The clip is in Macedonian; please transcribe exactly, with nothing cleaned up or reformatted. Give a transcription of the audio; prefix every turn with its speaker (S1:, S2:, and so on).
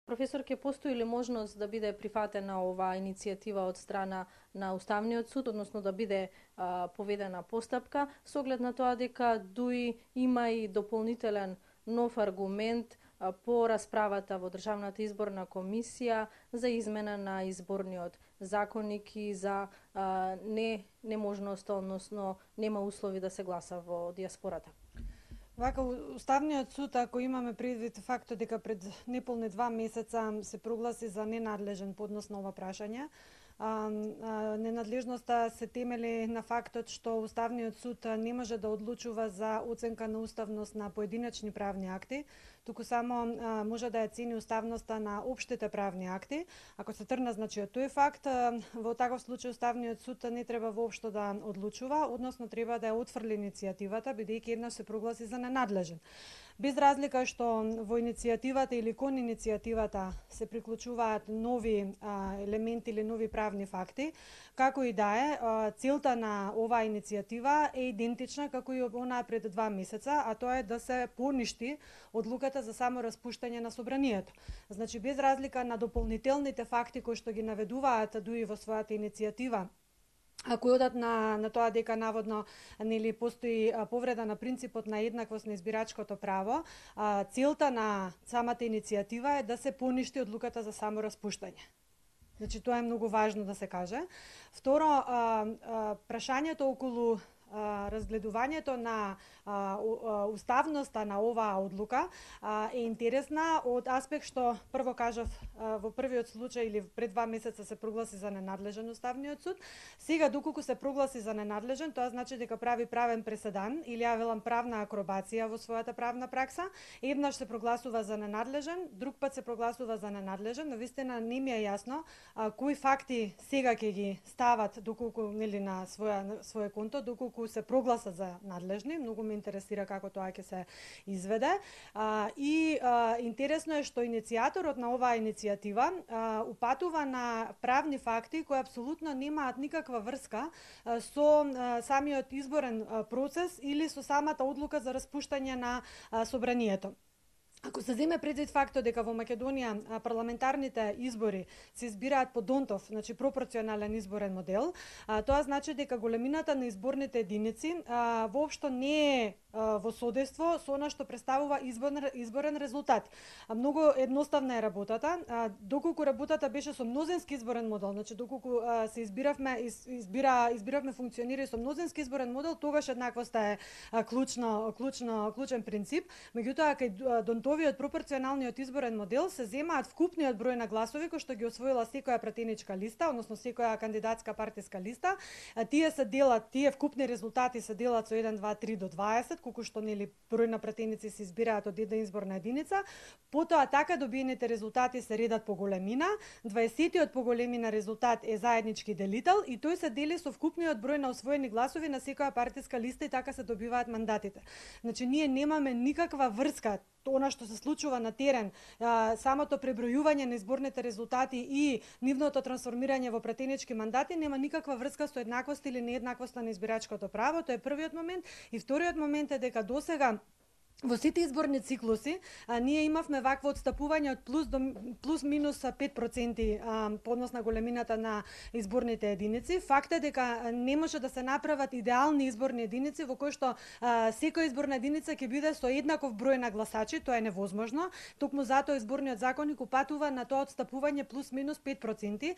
S1: Професор, ќе постои ли можност да биде прифатена оваа иницијатива од страна на Уставниот суд, односно да биде а, поведена постапка, со оглед на тоа дека ДУИ има и дополнителен нов аргумент а, по расправата во Државната изборна комисија за измена на изборниот законник и за а, не неможност, односно нема услови да се гласа во диаспората?
S2: Вака, Уставниот суд, ако имаме предвид фактот дека пред неполни два месеца се прогласи за ненадлежен поднос на ова прашање, а, а, ненадлежноста се темели на фактот што Уставниот суд не може да одлучува за оценка на уставност на поединечни правни акти, туку само а, може да ја цени уставноста на општите правни акти. Ако се тргна значи од тој факт, а, во таков случај Уставниот суд не треба воопшто да одлучува, односно треба да ја отфрли иницијативата, бидејќи еднаш се прогласи за ненадлежен. Без разлика што во иницијативата или кон иницијативата се приклучуваат нови а, елементи или нови правни факти, како и да е, а, целта на оваа иницијатива е идентична како и онаа пред два месеца, а тоа е да се поништи одлуката за само распуштање на собранието. Значи, без разлика на дополнителните факти кои што ги наведуваат ДУИ во својата иницијатива, ако одат на, на тоа дека наводно нели постои а, повреда на принципот на еднаквост на избирачкото право, а, целта на самата иницијатива е да се поништи одлуката за само распуштање. Значи, тоа е многу важно да се каже. Второ, а, а, прашањето околу а, разгледувањето на а, уставноста на оваа одлука а, е интересна од аспект што, прво кажав, а, во првиот случај или пред два месеца се прогласи за ненадлежен Уставниот суд. Сега, доколку се прогласи за ненадлежен, тоа значи дека прави правен преседан или ја велам правна акробација во својата правна пракса. Еднаш се прогласува за ненадлежен, друг пат се прогласува за ненадлежен, но вистина не ми е јасно а, кои факти сега ќе ги стават доколку нели на своја на своје конто, доколку се прогласа за надлежни. Многу ме интересира како тоа ќе се изведе. А, и а, интересно е што иницијаторот на оваа иницијатива а, упатува на правни факти кои апсолутно немаат никаква врска а, со а, самиот изборен а, процес или со самата одлука за распуштање на а, собранието. Ако се земе предвид фактот дека во Македонија парламентарните избори се избираат по Донтов, значи пропорционален изборен модел, а, тоа значи дека големината на изборните единици а, воопшто не е а, во содейство со она што представува изборен, изборен резултат. А, многу едноставна е работата. А, доколку работата беше со мнозински изборен модел, значи доколку а, се избиравме из, избира избиравме функционери со мнозински изборен модел, тогаш еднаквоста е а, клучно клучно клучен принцип. Меѓутоа кај Донтов Овиот пропорционалниот изборен модел се земаат вкупниот број на гласови кои што ги освоила секоја пратеничка листа, односно секоја кандидатска партиска листа. А, тие се делат, тие вкупни резултати се делат со еден, два, три до дваесет, колку што нели број на пратеници се избираат од една изборна единица. Потоа така добиените резултати се редат по големина. дваесетиот по големина резултат е заеднички делител и тој се дели со вкупниот број на освоени гласови на секоја партиска листа и така се добиваат мандатите. Значи ние немаме никаква врска она што се случува на терен, а, самото пребројување на изборните резултати и нивното трансформирање во пратенички мандати нема никаква врска со еднаквост или нееднаквост на избирачкото право. Тоа е првиот момент. И вториот момент е дека досега во сите изборни циклуси а, ние имавме вакво отстапување од плюс до плюс минус пет проценти а, по однос на големината на изборните единици. Факт е дека не може да се направат идеални изборни единици во кои што а, секоја изборна единица ќе биде со еднаков број на гласачи, тоа е невозможно. Токму затоа изборниот законник упатува на тоа отстапување плюс минус пет проценти.